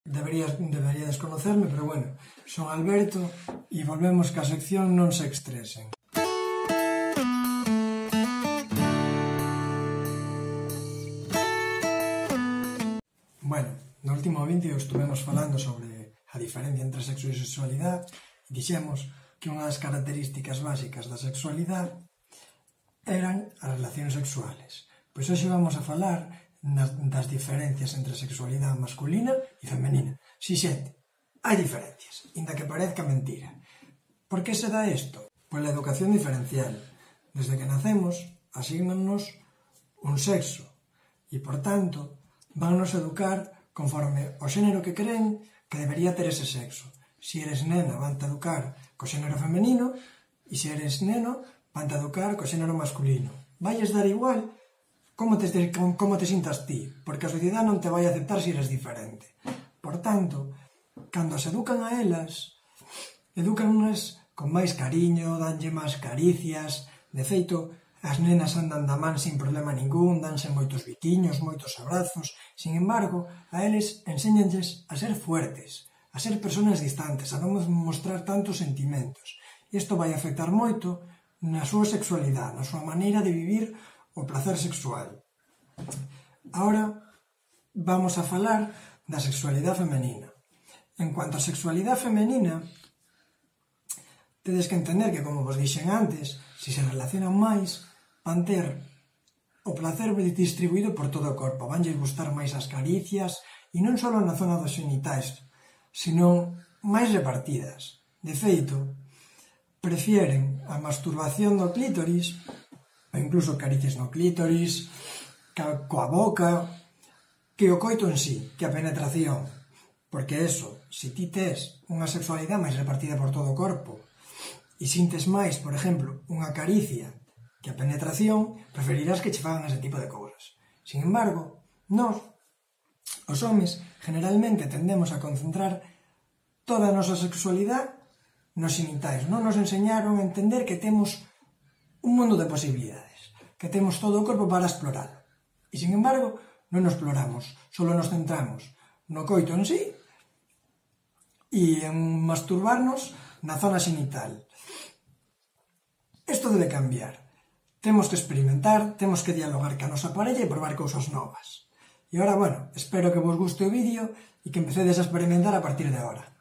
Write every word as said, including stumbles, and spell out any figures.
Deberías, deberías conocerme, pero bueno, son Alberto e volvemos ca sección Non se estresen. Bueno, no último vídeo estuvemos falando sobre a diferencia entre sexo e sexualidade e dixemos que unha das características básicas da sexualidade eran as relacións sexuales. Pois hoxe vamos a falar das diferencias entre sexualidade masculina e femenina. Si, xente, hai diferencias, inda que parezca mentira. Por que se dá isto? Pois a educación diferencial. Desde que nacemos, asígnannos un sexo e, por tanto, vannos educar conforme o xénero que creen que debería ter ese sexo. Se eres nena, van-te educar co xénero femenino e se eres neno, van-te educar co xénero masculino. Vailles dar igual como te, como te sintas ti, porque a sociedade non te vai aceptar se eres diferente. Por tanto, cando se educan a elas, educanlas con máis cariño, danlle máis caricias. De feito, as nenas andan da man sin problema ningún, danse moitos biquiños, moitos abrazos. Sin embargo, a eles enséñanlles a ser fuertes, a ser personas distantes, a non mostrar tantos sentimentos. Isto vai afectar moito na súa sexualidade, na súa maneira de vivir o placer sexual. Ahora vamos a falar da sexualidade femenina. En cuanto a sexualidade femenina, tedes que entender que, como vos dixen antes, se se relacionan máis, van ter o placer distribuído por todo o corpo, vanlles gustar máis as caricias, e non só na zona dos xenitais, sino máis repartidas. De feito, prefieren a masturbación do clítoris, ou incluso caricias no clítoris, coa boca, que o coito en sí, que a penetración. Porque eso, se ti tes unha sexualidade máis repartida por todo o corpo e sintes máis, por exemplo, unha caricia que a penetración, preferirás que che fagan ese tipo de cousas. Sin embargo, nós, os homes, generalmente tendemos a concentrar toda a nosa sexualidade nos xenitais. Non nos enseñaron a entender que temos un mundo de posibilidades, que temos todo o corpo para explorar. E, sin embargo, non nos exploramos, só nos centramos no coito en sí e en masturbarnos na zona xenital. Isto debe cambiar. Temos que experimentar, temos que dialogar ca nosa parella e probar cousas novas. E agora, bueno, espero que vos guste o vídeo e que empecedes a experimentar a partir de agora.